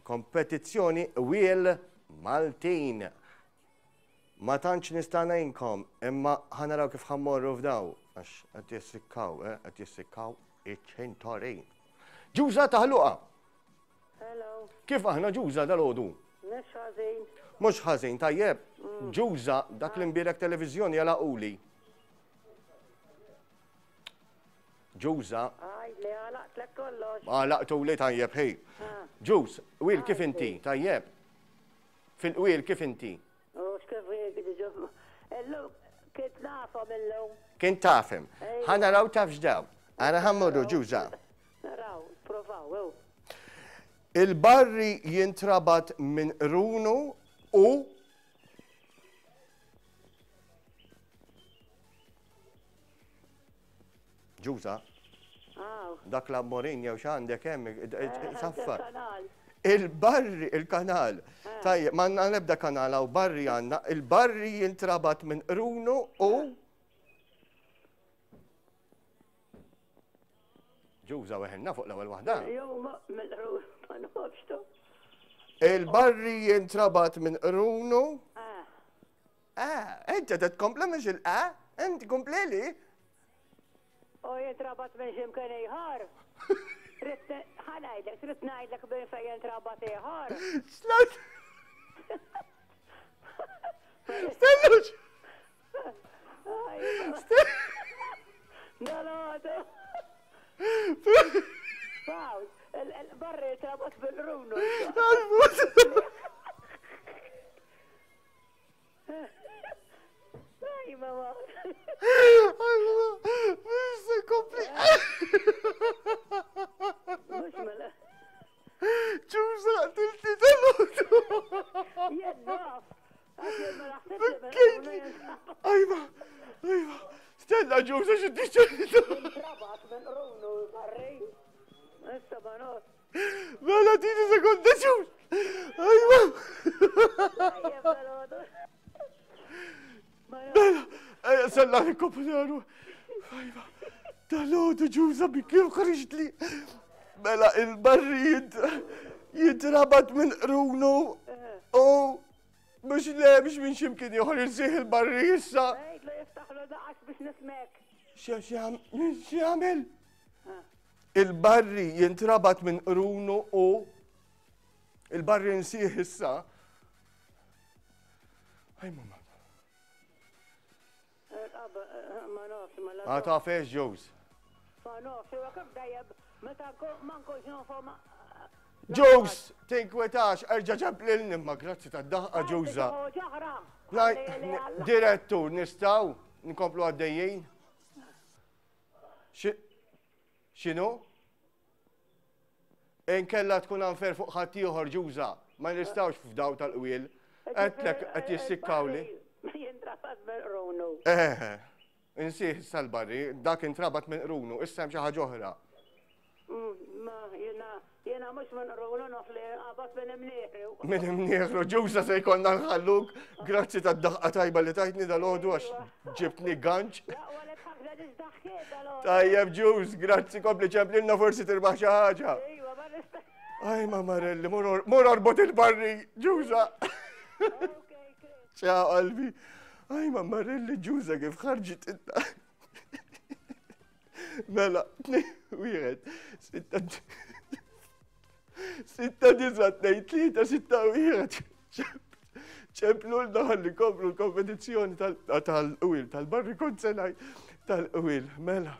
Kompetizzjoni Wiel Maltin. Ma tantx nista' ngħinkom, imma ħa naraw kif ħa mmorru f'daw, għax qed jissikkaw, eh, qed jissikkaw iċ-ċintorin. Ġuża taħluqa! Hello. Kif aħna Ġuża dal-għodu? Mhux ħażin. Mhux ħażin, tajjeb. Mm. Ġuża, dak li mbierek televiżjoni għalaquli. Ġuża. Aj, li għalaqtlek kollox. Għalaqtuli tajjeb, ħej. Ah. Ġuż, wil kif inti, tajjeb. Fil-qwiel kif inti? U x'kif Illum kint nafhom illum. Kint tafhem. Ħa naraw taf x'daw. Ara ħa mmorru ġuża. Naraw, provaw, Il-barri jintrabat minn qrunu u Ġuża. Dak l-ammorin jew x'għandek hemm eh, saffar. Il-barri, il-kanal. Eh. Tajjeb, ma għandna l-ebda kanal hawn barri għandna. Il-barri jintrabat minn qrunu u Ġuża weħelna fuq l-ewwel waħda. Il-barri jintrabat minn qrunu. Ah. Ah, inti qed tkompli mhux il-a, inti komplili. U jintrabat minn x'imkien ieħor. Trid ħa ngħidlek, trid ngħidlek minn fejn jintrabat ieħor. X'lat? Stellux! Dal-għodu. Pawl, il-barri trabat bil-runu. Aj, mama. Mhux se kompli. Mhux mela. Ġuża, tilti tal-għodu. Jien naf. Ajma, ajma. Stella ġuża xi tiċċa. Trabat minn runu barri. Issa ma naf. Mela tini sekonda ġuż. Ajma. Mela, ejja sella nikkomputaru. Ajma. Dal-għodu ġuża bi kif ħriġtli. Mela il-barri jintrabat minn qrunu u mhux le biex minn ximkien ieħor insih il-barri issa. Għidlu jiftaħlu daqas biex nismek. X'jagħmel? Il-barri jintrabat minn qrunu u il-barri nsih issa. Aj mamma. Ma nafx, ma Ma tafx ġuż. Ma nafx, huwa kif dejjem meta ma nkunx nafhom. Ġuż, tinkwetax, erġa' ġab lilni imma grazzi tad-daħqa ġuża. Direttur, nistgħu nkomplu għaddejjin? X'inhu? Inkella tkun unfair fuq ħaddieħor ġuża, ma nistgħux f'daw tal-qwiel. Għedtlek qed jissikkawli. Jintrabat minn qrunu. Eh, insih issa l-barri, dak intrabat minn qrunu, issa hemm xi ħaġa oħra. Mm, ma jiena jiena mhux minn qrunu naf li qabad minn imnieħru. Minn imnieħru, ġuża se jkollna nħalluk. Grazzi tad-daħqa tajba li tajtni dal-għodu għax ġibtni ganċ. Tajjeb ġuż, grazzi kompli ċemplilna forsi tirbaħ xi ħaġa. Aj ma Marelli, mur orbot il-barri, ġuża. Ciao qalbi. Aj ma Marelli ġuża kif ħarġit inta. Mela, wieħed, sitta, sitta, disa, tnejn, tlieta, sitta, wieħed. Ċemplulna ħalli komplu l-kompetizzjoni tal-qwil, tal-barri kont se ngħid, tal-qwil, mela.